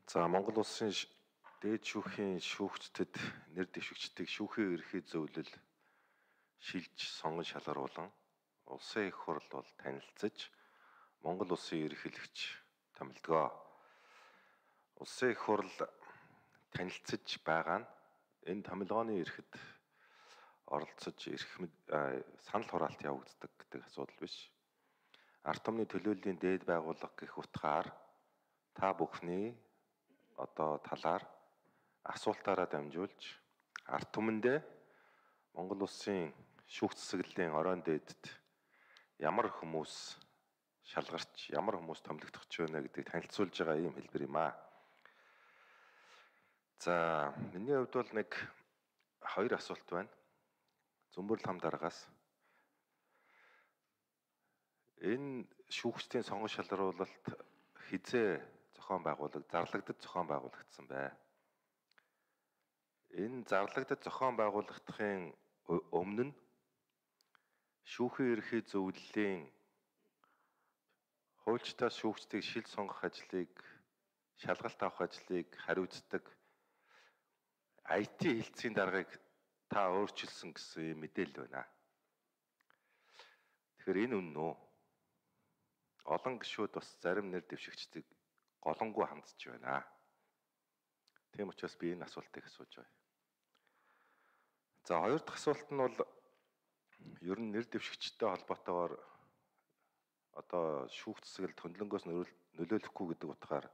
За Монгол улсын дээд шүүхийн шүүгчдэд нэр дэвшигчдийг шүүхийн ерхий зөвлөл шилж сонгон шалгаруулан улсын их хурл бол танилцаж Монгол улсын ерөнхийлөгч томилдгоо. Улсын их хурл танилцаж байгаа нь энэ томилгооны эрэхэд оролцож санал хураалт явагддаг гэдэг асуудал биш. Ард түмний төлөөллийн дээд байгууллага гэх утгаар та бүхний талаар асуултаараа дамжуулж ард түмэндээ Монгол улсын шүүх засаглалын оройн дээдэд ямар хүмүүс шалгарч, ямар хүмүүс томилогдох ч вэ гэдгийг танилцуулж байгаа ийм хэлбэр юм аа. За, миний хувьд бол нэг хоёр асуулт байна. Зөмбөрл хам дараагаас энэ шүүгчдийн сонгон шалгаруулалт хизээ зарлагдаж зохион байгуулагдсан бай. Энэ зарлагдаж зохион байгуулагдахын өмнө нь шүүхийн ерхий зөвлөлийн хуульчдаас шүүгчдийг шил сонгох ажлыг, шалгалт авах ажлыг хариуцдаг IT хэлтсийн даргаыг та өөрчилсөн гэсэн мэдээлэл байна. Тэгэхээр энэ үнэн үү? Олон гишүүд бас зарим нэр дэвшигчдийг голонгүй хандж байна. Тийм учраас би энэ асуултыг асууж байна. За, хоёр дахь асуулт нь бол ер нь нэр дэвшигчтэй холбоотойгоор шүүх засаглалд хөндлөнгөөс нөлөөлөхгүй гэдэг утгаар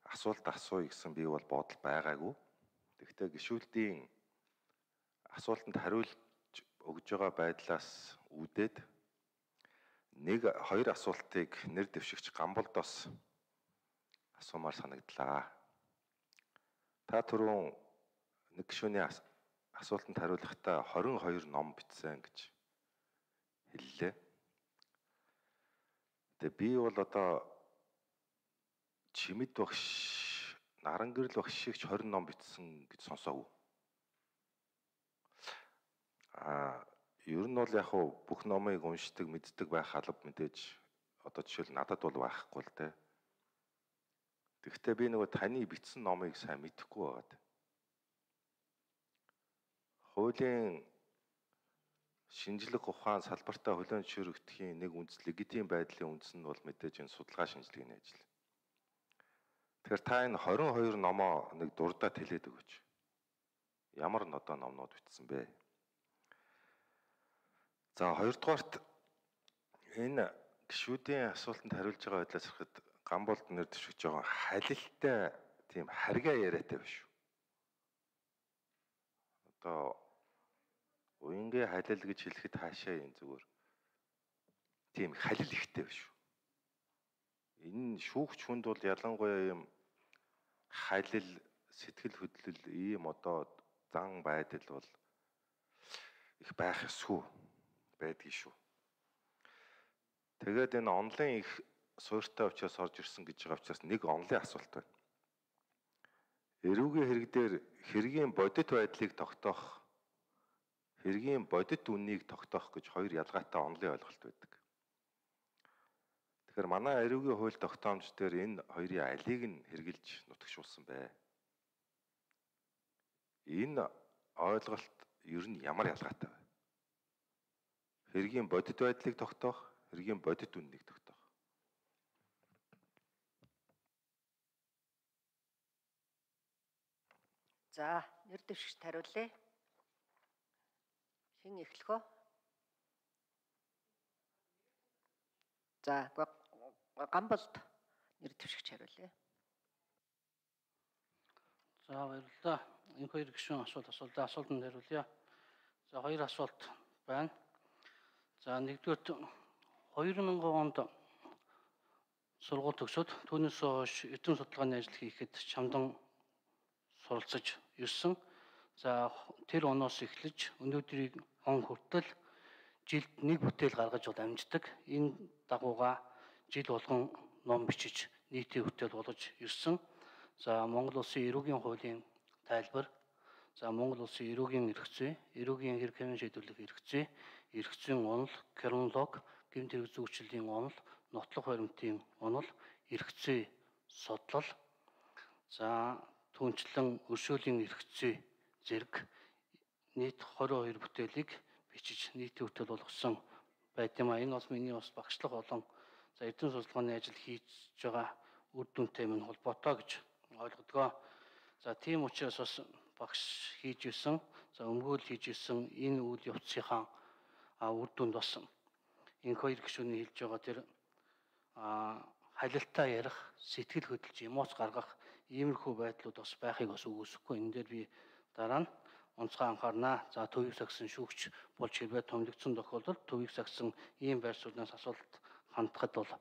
асуулт асууя гэсэн би бол бодол байгаагүй. Тэгэхдээ гишүүдийн асуултанд хариулж өгж байгаа байдлаас үүдээд хоёр асуултыг нэр дэвшигч Гамболдоос асуумаар санагдлаа. Та түрүүн нэг гишүүний асуултанд хариулахдаа 22 ном бичсэн гэж хэллээ. Тэгээ би бол Чимэд багш, Нарангэрл багш шиг 20 ном бичсэн гэж сонсоогүй. Ер нь бол яг бүх номыг уншдаг, мэддэг байх алба мэдээж жишээл надад бол байхгүй л дээ. Тэгэхдээ би таны бичсэн номыг сайн мэдэхгүй байгаад. Хуулийн шинжлэх ухаан салбартаа хүлээн зөвшөөрөгдөхийн нэг легитим байдлын үндэс нь бол мэдээж энэ судалгаа шинжилгээний ажил. Тэгэхээр та энэ 22 номоо нэг дурдаад хэлээд өгөөч. Ямар номнууд бичсэн бэ? За, хоёрдугаарт энэ гишүүдийн асуултанд хариулж байгаа байдлаас харахад Гамболд нэр дэвшигч байгаа халилтай тийм харьгаа яриатай биш үү? Уянгийн халил гэж хэлэхэд хаашаа юм зүгээр. Тийм халил ихтэй биш үү? Энэ шүүгч хүнд бол ялангуяа юм халил, сэтгэл хөдлөл, ийм зан байдал бол их байх ёсгүй байдгийг шүү. Тэгээд энэ онлын их суурьтай учраас орж ирсэн гэж байгаа учраас нэг онлын асуулт байна. Эрүүгийн хэрэг дээр хэргийн бодит байдлыг тогтоох, хэргийн бодит үннийг тогтоох гэж хоёр ялгаатай онлын ойлголт байдаг. Тэгэхээр манай эрүүгийн хууль тогтоомж дээр энэ хоёрын алийг нь хэрэгжилж нутагшуулсан бай. Энэ ойлголт ер нь ямар ялгаатай вэ? Хэргийн бодит байдлыг тогтоох, хэргийн бодит үннийг тогтоох. За, нэр дэвшигчд хариулъя. Хэн эхлэх вэ? За, Гамболд нэр дэвшигч хариулъя. За, баярлалаа. Энэ хоёр гишүүн асуултанд хариулъя. За, хоёр асуулт байна. За, нэгдүгээр 2000 онд сургууль төгсөөд түүнээс хойш эдийн судалгааны ажил хийхэд чамдан суралцаж ирсэн. За, тэр оноос эхлэж өнөөдрийг он хүртэл жилд нэг бүтээл гаргаж амждаг. Энэ дагууга жил болгон ном бичиж нийтийн бүтээл болгож ирсэн. За, Монгол улсын эрүүгийн хуулийн тайлбар, за, Монгол улсын эрүүгийн эрх зүй, эрүүгийн хэрэг хэмжээ шийдвэрлэх эрх зүй, эрх зүйн онол, криминолог, гэмт хэрэг зүйчлэлийн онол, нотлох баримтын онол, эрх зүй судлал, За түүнчлэн өршөөлийн эрх зүй зэрэг нийт 22 бүтээлийг бичиж нийтийн хөтөл болгосон байт юм а. Энэ бол миний бас багшлах болон за эрдэм судалгааны ажил хийж байгаа үр дүнтэй минь холбоотой гэж ойлгодгоо. За тийм учраас бас багш хийж исэн, за өмгөөл хийж исэн энэ үйл явцынхаа үр дүнд бас энэ хоёр гишүүний хэлж байгаа тэр халилтаа ярих, сэтгэл хөдлөж эмоц гаргах иймэрхүү байдлууд бас байхыг бас үгүйсэхгүй. Энэ дээр би дараа нь онцгой анхаарнаа. За төвийг сагсан шүүгч болж хэрвээ томилогдсон тохиолдолд төвийг сагсан ийм байр сууриас асуулт хандахад бол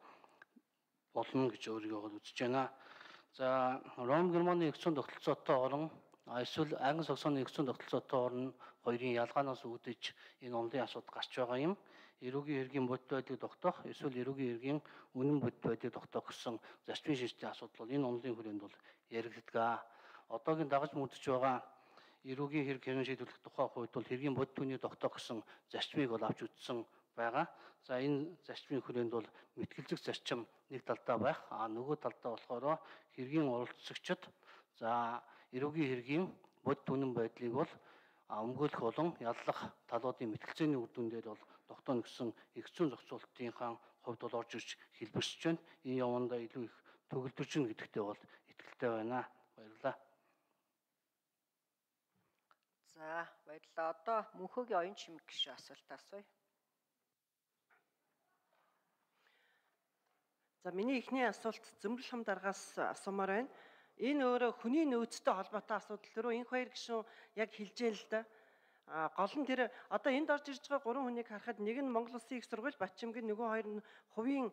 болно гэж өөрийгөө үзэж байна. За Ром Германы эгцэн тогтолцоотой орон эсвэл Англи Саксоны эгцэн тогтолцоотой орн хоёрын ялгаанаас үүдэж энэ онлын асуудал гарч байгаа юм. Эрүүгийн хэргийн бодит байдлыг тогтоох эсвэл эрүүгийн хэргийн үнэн бодит байдлыг тогтоох гэсэн зарчмын шинжилгээний асуудал бол энэ онлын хүрээнд бол яригддаг. Одоогийн дагаж мөрдөж байгаа эрүүгийн хэрэг хэрэн шийдвэрлэх тухай хувьд бол хэргийн бодит түүнийг тогтоох гэсэн зарчмыг бол авч үзсэн байгаа. За энэ зарчмын хүрээнд бол мэтгэлзэх зарчим нэг талдаа байх, нөгөө талдаа болохоор хэргийн оролцогчид за эрүүгийн хэргийн бодит үнэн байдлыг бол өмгөөлөх болон яллах талуудын мэтгэлцээний үр дүн дээр бол тогтооно гэсэн эгцэн зохицуулалтынхаа хувьд бол орж ирж хэлбэрсэж байна. Энэ явандаа илүү их төгөлдрж гэнэ гэдэгтээ бол итгэлтэй байна. Баярлалаа. За баярлалаа. Одоо Мөнхөгийн оюун чимэг гишүүн асуулт асууя. За миний эхний асуулт Зөмрөл хам даргаас асуумаар байна. Энэ өөрөө хүний нөөцтэй холбоотой асуудал төрөө энэ хоёр гишүүн яг хэлжээ л да. Гол нь тэр одоо энд орж ирж байгаа гурван хүнийг харахад нэг нь Монгол Улсын их сургууль, Батчимгийн, нөгөө хоёр нь хувийн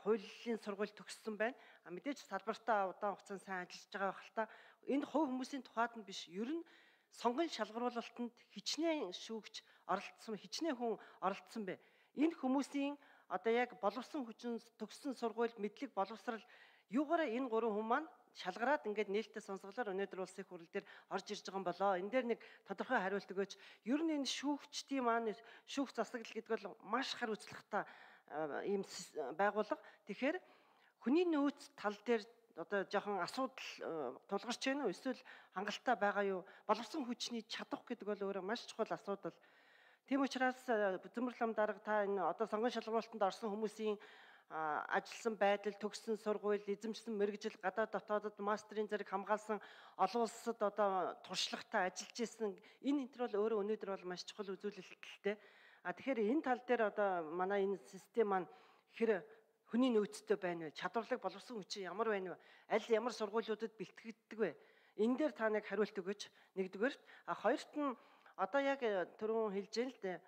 хуулийн сургууль төгссөн байна. Мэдээж салбартаа удаан хугацаанд сайн ажиллаж байгаа байх л та. Энд хувь хүмүүсийн тухайд нь биш, ер нь сонгон шалгаруулалтанд хичнээн шүүгч оролцсон, хичнээн хүн оролцсон бэ. Энэ хүмүүсийн одоо яг боловсон хүчин төгссөн сургуульд мэдлэг боловсрал юугаараа энэ гурван хүн маань шалгараад ингээд нээлттэй сонсголоор өнөөдөр улсын хурал дээр орж ирж байгаа юм болоо. Энэ дээр нэг тодорхой хариулт өгөөч. Ер нь энэ шүүгчдийн маань шүүгч засаглал гэдэг бол маш хар үзлэгтэй ийм байгууллага. Тэгэхээр хүний нөөц тал дээр одоо жоохон асуудал тулгарч байна уу? Эсвэл хангалттай байгаа юу? Боловсон хүчний чадах гэдэг бол өөрөө маш чухал асуудал. Тийм учраас Зөмрөл хам дарга та энэ одоо сонгон шалгуулалтанд орсон хүмүүсийн ажилласан байдал, төгссөн сургууль, эзэмшсэн мэргэжил, гадаад дотоодод мастрын зэрэг хамгаалсан олон улсад одоо туршлагатай ажиллаж исэн энэ бол өөрөө өнөөдөр бол маш чухал үзүүлэлттэй. Тэгэхээр энэ тал дээр одоо манай энэ систем маань хэр хүний нөөцтэй байна вэ? Чадварлаг боловсон хүчин ямар байна вэ? Аль ямар сургуулиудад бэлтгэгддэг вэ? Энэ дээр та нэг хариулт өгөөч. Нэгдүгээр, хоёрт нь одоо яг түрүүн хэлж байна л дээ.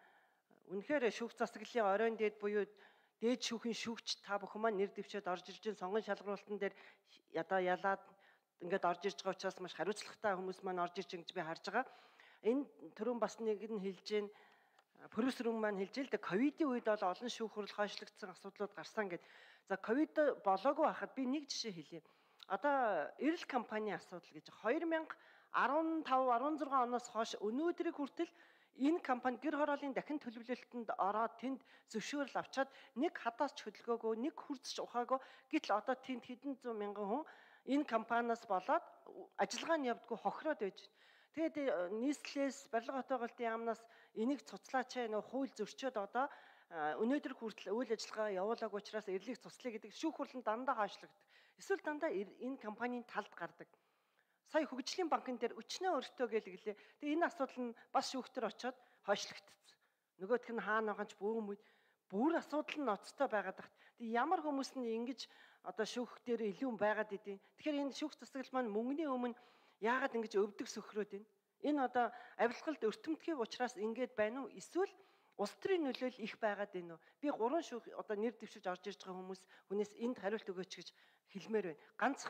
Үнэхээр шүүгч засаглалын оройн дээд буюу дээд шүүхийн шүүгч та бүхэн маань нэр дэвшээд орж ирж байгаа сонгон шалгуулалтан дээр одоо ялаад ингээд орж ирж байгаа учраас маш хариуцлагатай хүмүүс маань орж ирж байгаа гэж би харж байгаа. Энэ түрүүн бас нэг нь хэлж байна. Профессор маань хэлж л дээ ковидын үед бол олон шүүх хурал хойшлогдсон асуудлууд гарсан гэдэг. За ковид болоогүй хахад би нэг жишээ хэлье. Одоо Эрэл компанийн асуудал гэж 2015-16 оноос хойш өнөөдрийг хүртэл энэ компани гэр хорооллын дахин төлөвлөлтөнд ороод тэнд зөвшөөрөл авчаад нэг хадаас ч хөдөлгөөгүй, нэг хурцч ухаагүй. Гэтэл одоо тэнд хэдэн зуун мянган хүн энэ компаниас болоод ажиллагаа нь явдаггүй хохироод байж байна. Тэгээд нийслэлээс барилга хотоогоолтын яамнаас энийг цуцлаач нөө хууль зөрчөөд одоо өнөөдөр хүртэл үйл ажиллагаа явуулаагүй учраас эрлийг цуцлая гэдэг шүүх хурлын дандаа хойшлогддог. Эсвэл дандаа энэ компанийн талд гардаг. Сая хөгжлийн банкн дээр өчнөө өртөө гэлээ. Тэгээ энэ асуудал нь бас шүүхтэр очоод хойшлогдсон. Нөгөөх нь хаана байгаа ч бүр асуудал нь ноцтой байгаад тахт. Тэгээ ямар хүмүүс нь ингэж одоо шүүх дээр илүү байгаад идэв. Тэгэхээр энэ шүүх засаглал маань мөнгөний өмнө яагаад ингэж өвдөг сөхрөөд байна? Энэ одоо авилгалд өртөмтгий учраас ингэж байна уу? Эсвэл улс төрийн нөлөөлөл их байгаад байна уу? Би гурван шүүх одоо нэр дэвшиж орж ирж байгаа хүнээс энд хариулт өгөөч гэж хэлмээр байна. Ганц